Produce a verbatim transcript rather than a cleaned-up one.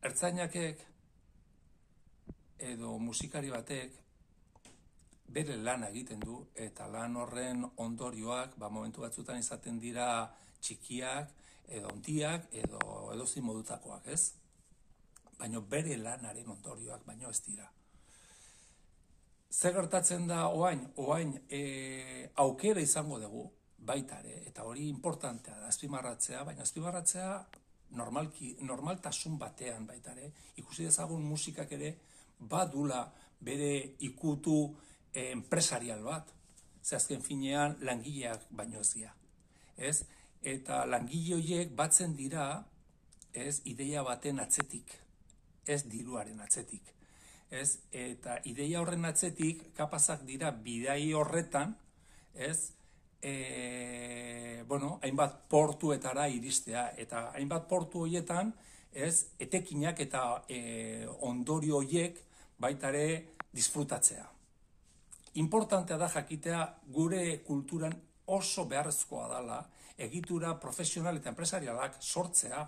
ertzainakek edo musikari batek bere lana egiten du, eta lan horren ondorioak, ba, momentu batzutan izaten dira txikiak, edo ontiak, edo edozein modutakoak, ez? Baina bere lanaren ondorioak, baino ez dira. Zer gertatzen da oain? Oain e, aukera izango dugu, baitare, eta hori importantea da, azpimarratzea, baina azpimarratzea normalki, normaltasun batean baitare, ikusi dezagun musikak ere badula bere ikutu eh, enpresarial bat, ze azken finean langileak baino ez dira, ez? Eta langile horiek batzen dira, ez, ideia baten atzetik, ez diruaren atzetik, ez? Eta ideia horren atzetik kapazak dira bidai horretan, ez? E, bueno, hainbat portuetara iristea, eta hainbat portu horietan, ez, etekinak eta e, ondorio horiek baitare disfrutatzea. Importantea da jakitea gure kulturan oso beharrezkoa dela egitura profesional eta enpresarialak sortzea,